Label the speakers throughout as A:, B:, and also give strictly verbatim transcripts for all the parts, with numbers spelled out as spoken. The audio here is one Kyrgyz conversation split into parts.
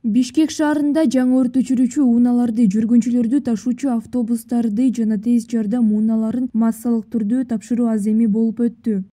A: Бишкек шаарында жаңы өрт өчүрүүчү унааларды, жүргүнчүлөрдү ташуучу автобустарды жана тез жардам унааларын массалык түрдө тапшыруу аземи болуп өттү.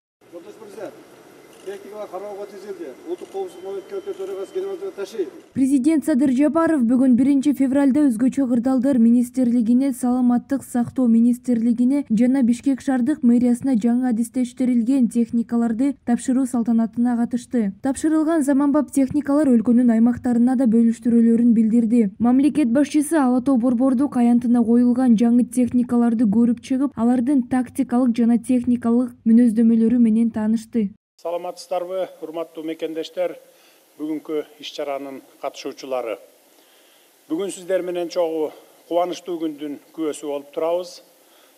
A: Президент Садыр Жапаров бүгүн биринчи февралда өзгөчө кырдаалдар министрлигине, саламаттык сактоо министрлигине жана Бишкек шаардык мэриясына жаңы адистештирилген техникаларды тапшыруу салтанатына катышты. Тапшырылган заманбап техникалар өлкөнүн аймактарына да бөлүштүрүүлөрүн билдирди. Мамлекет башчысы Ала Тоо Борбордук аянтына коюлган жаңы техникаларды көрүп чыгып, алардын тактикалык жана техникалык мүнөздөмөлөрү менен таанышты.
B: Саламатсыздарбы, урматтуу мекендештер, бүгүнкү иш-чаранын катышуучулары. Бүгүн сиздер менен чогуу кубанычтуу күндүн күбөсү болуп турабыз.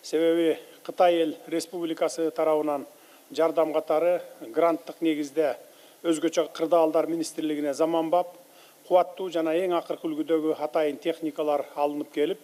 B: Себеби Кытай эл республикасы тарабынан жардам катары гранттык негизде өзгөчө кырдаалдар министрлигине заманбап, кубаттуу жана эң акыркы үлгүдөгү атайын техникалар алынып келип,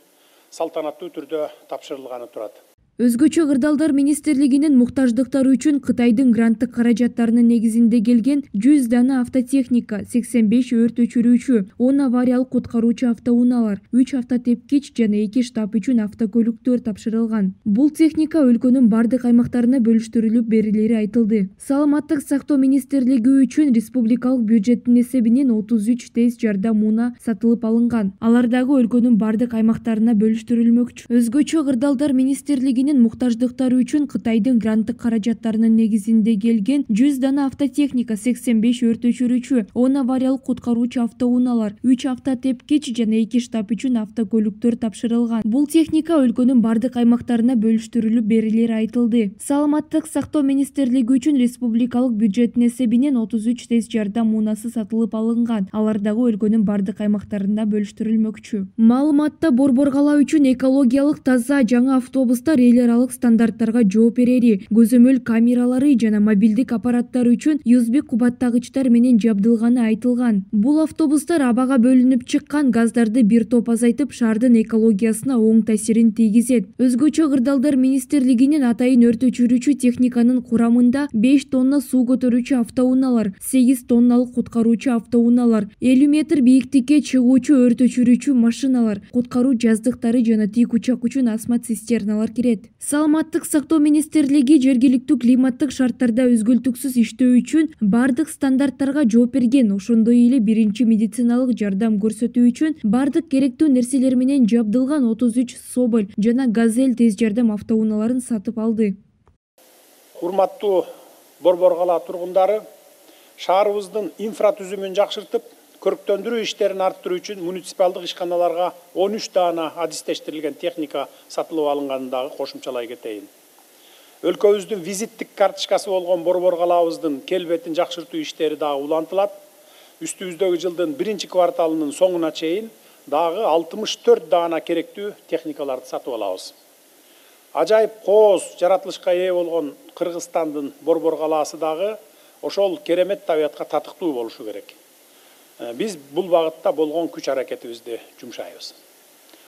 B: салтанаттуу түрдө тапшырылганы турат.
A: Өзгөчө кырдаалдар министрлигинин муктаждыктары үчүн Кытайдын гранттык каражаттарынын негизинде келген жүз дана автотехника, сексен беш өрт өчүрүүчү, он авариялык куткаруучу автоунаалар, үч автотепкич жана эки штаб үчүн автокөлүктөр тапшырылган. Бул техника өлкөнүн бардык аймактарына бөлүштүрүлүп берилери айтылды. Саламаттык сактоо министрлиги үчүн республикалык бюджеттин эсебинен отуз үч тез жардам унаа сатылып алынган. Алар дагы өлкөнүн бардык аймактарына бөлүштүрүлмөкчү. Өзгөчө кырдаалдар министрлиги муктаждыктары үчүн Кытайдын гранттык каражаттарынын негизинде келген жүз дана автотехника, сексен беш өрт өчүрүүчү, он авариялык куткаруучу автоунаалар, үч автотепкич жана эки штаб үчүн автокөлүктөр тапшырылган. Бул техника өлкөнүн бардык аймактарына бөлүштүрүлүп берилери айтылды. Саламаттык сактоо министрлиги үчүн республикалык бюджеттин эсебинен отуз үч тез жардам унаасы сатылып алынган. Алар дагы өлкөнүн бардык аймактарына бөлүштүрүлмөкчү. Маалыматта Борбор кала үчүн экологиялык таза жаңы автобустар эл аралык стандарттарга жооп берери, көзөмөл камералары жана мобилдик аппараттар үчүн ю эс би кубаттагычтар менен жабдылганы айтылган. Бул автобустар абага бөлүнүп чыккан газдарды бир топ азайтып, шаардын экологиясына оң таасирин тийгизет. Өзгөчө кырдаалдар министрлигинин атайын өрт өчүрүүчү техниканын курамында беш тонна суу көтөрүүчү автоунаалар, сегиз тонналык куткаруучу автоунаалар, элүү метр бийиктикке чыгуучу өрт өчүрүүчү машиналар, куткаруу жаздыктары жана тик учак үчүн астма цистерналар кирет. Саламаттык сактоо министрлиги жергиликтүү климаттык шарттарда өзгөлтүксүз иштөө үчүн бардык стандарттарга жооп берген, ошондой эле биринчи медициналык жардам көрсөтүү үчүн бардык керектүү нерселер менен жабдылган отуз үч Соболь жана Газель тез жардам автоунааларын сатып алды.
B: Урматтуу Борбор кала тургундары, шаарыбыздын инфратүзүмүн жакшыртып, көрктөндүрүү иштерин арттыруу үчүн муниципалдык ишканаларга он үч дана адистештирилген техника сатылып алынганын дагы кошумчалай кетейин. Өлкөбүздүн визиттик карточкасы болгон Борбор калабыздын келбетин жакшыртуу иштери дагы улантылат. Үстүбүздөгү жылдын биринчи кварталынын соңуна чейин дагы алтымыш төрт дана керектүү техникаларды сатып алабыз. Ажайып кооз жаратылышка ээ болгон Кыргызстандын Борбор калаасы дагы ошол керемет табиятка татыктуу болушу керек. Биз бул багытта болгон күч аракетибизди жумшайбыз.